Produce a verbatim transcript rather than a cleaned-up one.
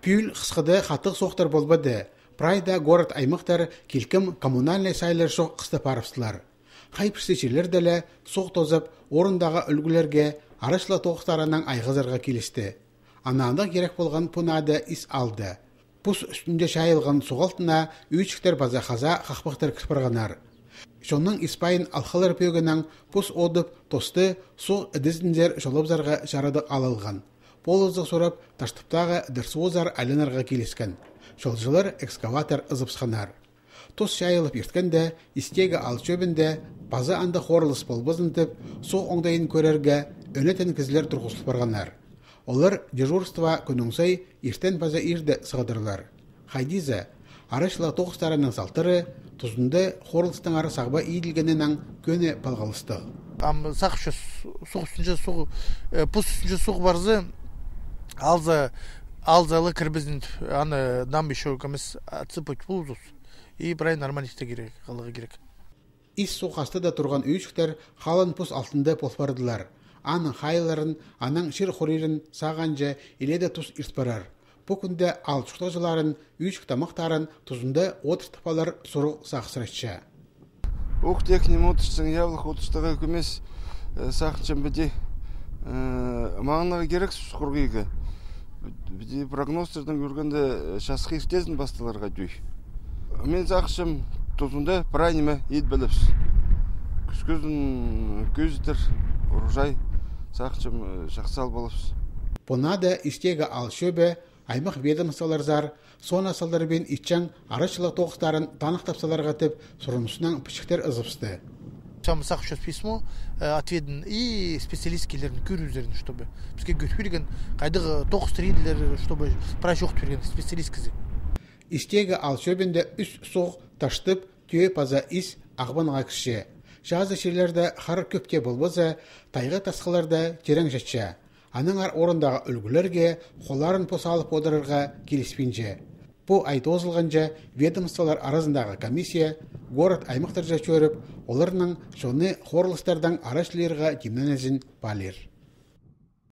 Пюл қысқыды қатық соқтыр болбады. Прайда город аймақтар келкім коммунальный сайлар шоқ қысты парыпсылар. Хайпірсечелер дәлі соқ тозып, орындағы үлгілерге арашла тоқтарының айғызырға келісті. Ананда керек болған пунады ис алды. Пус үстінде шайылған соғалтына үйчіктер база қаза қақпақтар кірпірғанар. Шонның испайын алқалар пөгінің пус одып тосты соқ үдізіндер жолыбзарға жарады алылған. Полызық сұрап таштыптағы дұрсуызар әлінарға келескен. Жолжылар экскаватор ызыпсқанар. Тос шайылып ерткенде, истегі ал чөбінде база анды қорылыс болбызынтып, соқ оңдайын көрерге өнетен кізлер тұрғысыл барғанар. Олар дежурства күніңсай ертен база ирді сығадырлар. Хайдиза, арашла тоғыстарының салтыры, тұзынды қорылыстың ары сағба иілгенінен көне балғалысты. Сақшы суқ үстінше суқ, пұс үстінше суқ барзы, алза алзалы кірбізін аны нам еще көмес цыпыч бұлзыз. И брай нормалисті керек, қалығы керек. Ис суқасты да тұрған үйшіктер қалын пұс алтынды полпардылар. Аның хайларын, аның шыр қорирін сағанжа иледі тұс иртпарар. Бұл күнде алшықтажыларын, үйшік тамақтарын тұзында отыртыпалар сұру сақсыратша. Ух, техним отыршың, явлық отырштығы көмес сақыншын біде маңынаға керек сұқырғыға. Біде прогностердің көргенде шасқы ертезін бастыларға дүй. Мен сақышым тұзында прайнеме ет біліпс. Күскөзін көздір, ұржай сақышым шақсал болыпс. Бұнада істегі ал шөбі, аймақ ведомстволар зар, сон асалдар бен итчан арашылық тоғыстарын танық тапсаларға тіп, сұрынысынан пішіктер ызыпсты. Сам сақшы письмо ответен и специалистскийлердің көрізерін, чтобы бізге көріперген қайдығы тоғыз трейділер, чтобы прашоқ берген специалист кізі. Истегі ал шөбінде үс соқ таштып, түйе паза ис ағбанға кіші. Жазы шерлерді қар көпке болбаза, тайғы тасқыларда терең жатша. Аныңар орындағы үлгілерге қоларын посалып одырырға келіспенже. Бұл айты озылғанжа ведомстволар арасындағы комиссия город аймақтар жа чөріп, оларының шоны қорылыстардан арашлерға кемнен әзін балер.